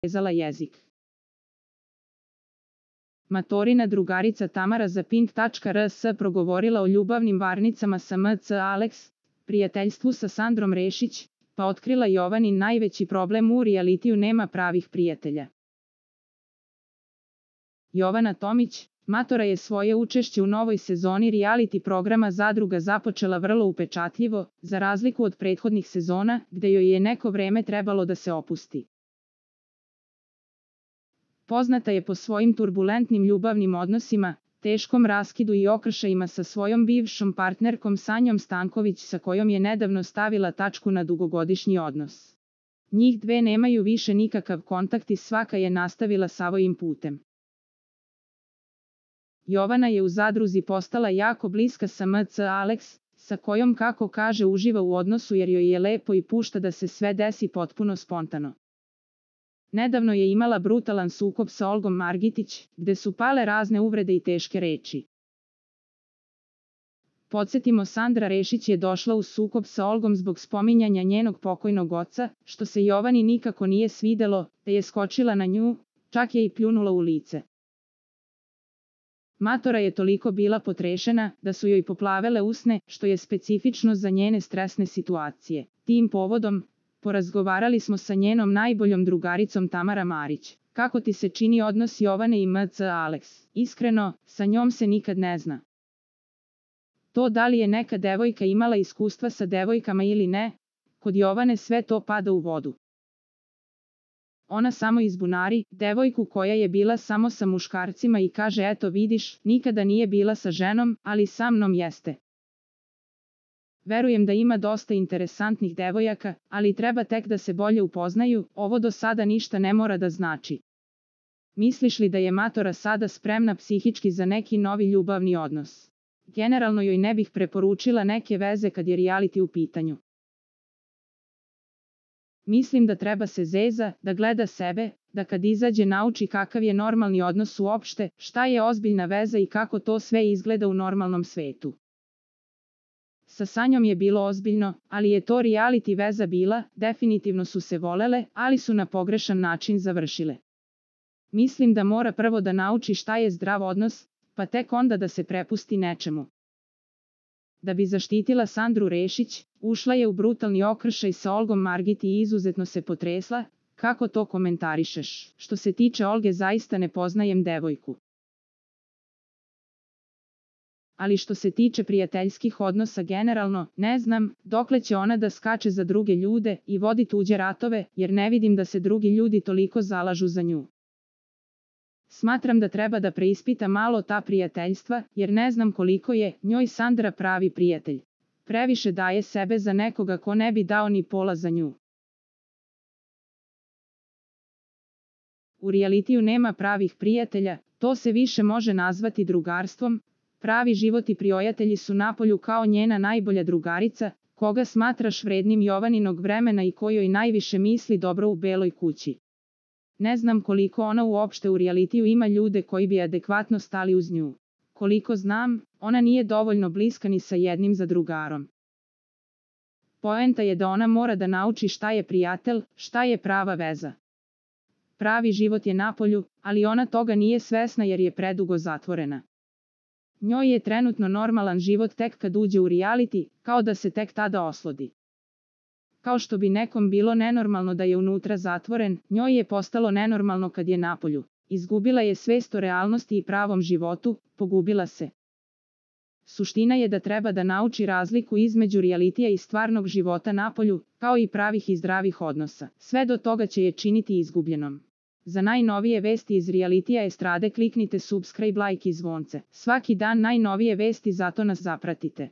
rezala jezik. Matorina drugarica Tamara za Pink.rs progovorila o ljubavnim varnicama sa MC Alex, prijateljstvu sa Sandrom Rešić, pa otkrila Jovanin najveći problem u realitiju: nema pravih prijatelja. Jovana Tomić, matora, je svoje učešće u novoj sezoni reality programa Zadruga započela vrlo upečatljivo, za razliku od prethodnih sezona, gde joj je neko vreme trebalo da se opusti. Poznata je po svojim turbulentnim ljubavnim odnosima, teškom raskidu i okršajima sa svojom bivšom partnerkom Sanjom Stanković, sa kojom je nedavno stavila tačku na dugogodišnji odnos. Njih dve nemaju više nikakav kontakt i svaka je nastavila svojim putem. Jovana je u Zadruzi postala jako bliska sa MC Alex, sa kojom, kako kaže, uživa u odnosu jer joj je lepo i pušta da se sve desi potpuno spontano. Nedavno je imala brutalan sukob sa Olgom Margitić, gde su pale razne uvrede i teške reči. Podsjetimo, Sandra Rešić je došla u sukob sa Olgom zbog spominjanja njenog pokojnog oca, što se Jovani nikako nije svidelo, te je skočila na nju, čak je i pljunula u lice. Matora je toliko bila potrešena da su joj poplavele usne, što je specifično za njene stresne situacije. Tim povodom porazgovarali smo sa njenom najboljom drugaricom Tamara Marić. Kako ti se čini odnos Jovane i MC Alex? Iskreno, sa njom se nikad ne zna. To da li je neka devojka imala iskustva sa devojkama ili ne, kod Jovane sve to pada u vodu. Ona samo izbunari devojku koja je bila samo sa muškarcima i kaže: eto vidiš, nikada nije bila sa ženom, ali sa mnom jeste. Verujem da ima dosta interesantnih devojaka, ali treba tek da se bolje upoznaju, ovo do sada ništa ne mora da znači. Misliš li da je matora sada spremna psihički za neki novi ljubavni odnos? Generalno joj ne bih preporučila neke veze kad je reality u pitanju. Mislim da treba se zeza, da gleda sebe, da kad izađe nauči kakav je normalni odnos uopšte, šta je ozbiljna veza i kako to sve izgleda u normalnom svetu. Sa Sanjom je bilo ozbiljno, ali je to reality veza bila, definitivno su se volele, ali su na pogrešan način završile. Mislim da mora prvo da nauči šta je zdrav odnos, pa tek onda da se prepusti nečemu. Da bi zaštitila Sandru Rešić, ušla je u brutalni okršaj sa Olgom Margiti i izuzetno se potresla. Kako to komentarišeš? Što se tiče Olge, zaista ne poznajem devojku. Ali što se tiče prijateljskih odnosa generalno, ne znam dokle će ona da skače za druge ljude i vodi tuđe ratove, jer ne vidim da se drugi ljudi toliko zalažu za nju. Smatram da treba da preispita malo ta prijateljstva, jer ne znam koliko je njoj Sandra pravi prijatelj. Previše daje sebe za nekoga ko ne bi dao ni pola za nju. U realitiju nema pravih prijatelja, to se više može nazvati drugarstvom. Pravi život i prijatelji su napolju, kao njena najbolja drugarica, koga smatraš vrednim Jovaninog vremena i kojoj najviše misli dobro u Beloj kući. Ne znam koliko ona uopšte u realitiju ima ljude koji bi adekvatno stali uz nju. Koliko znam, ona nije dovoljno bliska ni sa jednim zadrugarom. Poenta je da ona mora da nauči šta je prijatelj, šta je prava veza. Pravi život je napolju, ali ona toga nije svesna jer je predugo zatvorena. Njoj je trenutno normalan život tek kad uđe u reality, kao da se tek tada oslodi. Kao što bi nekom bilo nenormalno da je unutra zatvoren, njoj je postalo nenormalno kad je napolju. Izgubila je svest o realnosti i pravom životu, pogubila se. Suština je da treba da nauči razliku između realitija i stvarnog života napolju, kao i pravih i zdravih odnosa. Sve do toga će je činiti izgubljenom. Za najnovije vesti iz realitija estrade kliknite subscribe, like i zvonce. Svaki dan najnovije vesti, zato nas zapratite.